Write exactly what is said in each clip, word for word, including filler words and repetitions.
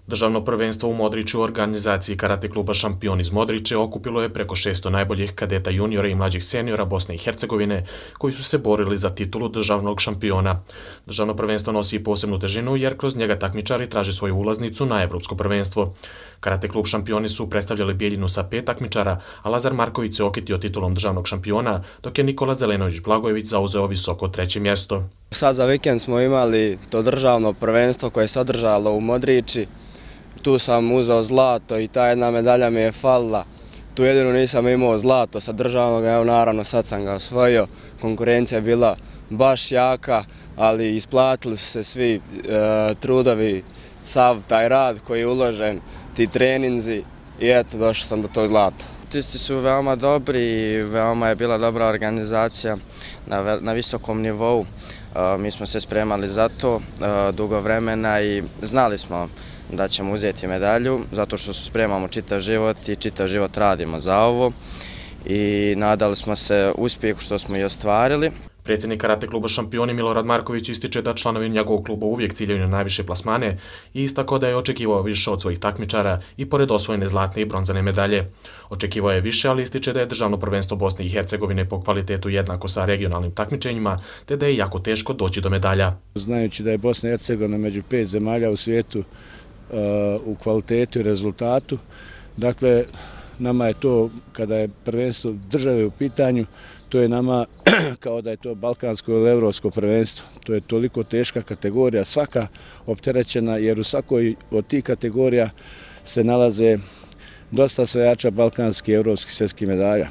Državno prvenstvo u Modriču u organizaciji karate kluba Šampion iz Modriče okupilo je preko šesto najboljih kadeta juniora i mlađih seniora Bosne i Hercegovine koji su se borili za titulu državnog šampiona. Državno prvenstvo nosi i posebnu težinu jer kroz njega takmičari traže svoju ulaznicu na Evropsko prvenstvo. Karate klub Šampioni su predstavljali Bijeljinu sa pet takmičara, a Lazar Marković se okitio titulom državnog šampiona, dok je Nikola Zelenović-Blagojević zauzeo visoko treće mjesto. Sad za vikend smo imali to državno prvenstvo koje se održalo u Modriči. Tu sam uzeo zlato i ta jedna medalja mi je falila. Tu jedino nisam imao zlato sa državnog, evo naravno sad sam ga osvojio. Konkurencija je bila baš jaka, ali isplatili su se svi e, trudovi, sav taj rad koji je uložen, ti treninzi i eto došao sam do tog zlata. Tisci su veoma dobri i veoma je bila dobra organizacija na, na visokom nivou. E, mi smo se spremali za to e, dugo vremena i znali smo da ćemo uzeti medalju, zato što se spremamo čitav život i čitav život radimo za ovo i nadali smo se uspjehu što smo i ostvarili. Predsjednik karate kluba Šampioni Milorad Marković ističe da članovi njegovog kluba uvijek ciljaju na najviše plasmane i istakao da je očekivao više od svojih takmičara i pored osvojene zlatne i bronzane medalje. Očekivao je više, ali ističe da je državno prvenstvo Bosne i Hercegovine po kvalitetu jednako sa regionalnim takmičenjima, te da je jako teško doći do medalja. Znajući da je Bosna i Hercegovina među pet zemalja u svijetu u kvalitetu i rezultatu. Dakle, nama je to, kada je prvenstvo države u pitanju, to je nama kao da je to balkansko ili evropsko prvenstvo. To je toliko teška kategorija, svaka opterećena, jer u svakoj od tih kategorija se nalaze dosta osvajača balkanskih i evropskih svjetskih medalja.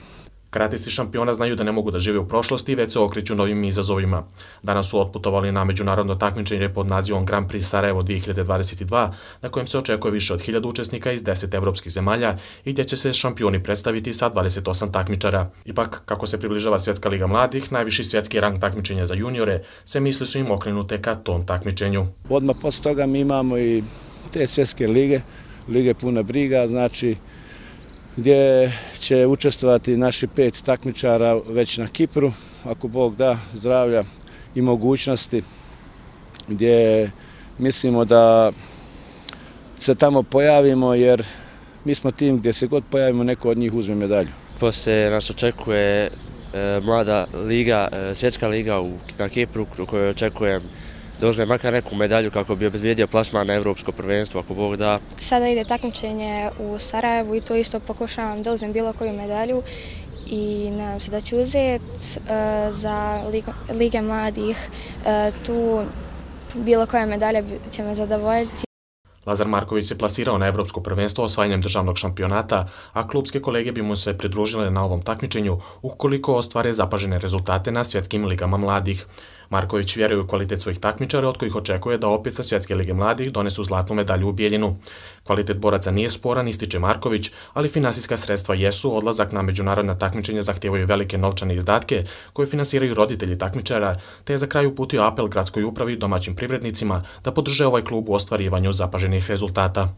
Karatisti Šampiona znaju da ne mogu da žive u prošlosti, već se okreću novim izazovima. Danas su otputovali na međunarodno takmičenje pod nazivom Grand Prix Sarajevo dvije hiljade dvadeset dva, na kojem se očekuje više od hiljadu učesnika iz deset evropskih zemalja i gdje će se šampioni predstaviti sa dvadeset osam takmičara. Ipak, kako se približava Svjetska liga mladih, najviši svjetski rang takmičenja za juniore, se misli su im okrenute ka tom takmičenju. Odmah posle toga mi imamo i te svjetske lige, lige puna briga, znači gdje će učestvovati naši pet takmičara već na Kipru, ako Bog da zdravlja i mogućnosti, gdje mislimo da se tamo pojavimo, jer mi smo tim gdje se god pojavimo, neko od njih uzme medalju. Poslije nas očekuje e, mlada liga, e, svjetska liga u, na Kipru, u kojoj očekujem da uzme makar neku medalju kako bi obezbijedio plasman na Evropsko prvenstvo, ako Bog da. Sada ide takmičenje u Sarajevu i to isto pokušavam da uzmem bilo koju medalju i nadam se da ću uzeti za Lige mladih. Tu bilo koja medalja će me zadovoljiti. Lazar Marković se plasirao na Evropsko prvenstvo osvajanjem državnog šampionata, a klubske kolege bi mu se pridružile na ovom takmičenju ukoliko ostvare zapažene rezultate na svjetskim ligama mladih. Marković vjeruje u kvalitet svojih takmičara, od kojih očekuje da opet sa Svjetske lige mladih donesu zlatnu medalju u Bijeljinu. Kvalitet boraca nije sporan, ističe Marković, ali finansijska sredstva jesu, odlazak na međunarodna takmičenja zahtijevaju velike novčane izdatke koje finansiraju roditelji takmičara, te je za kraj uputio apel gradskoj upravi i domaćim privrednicima da podrže ovaj klub u ostvarivanju zapaženih rezultata.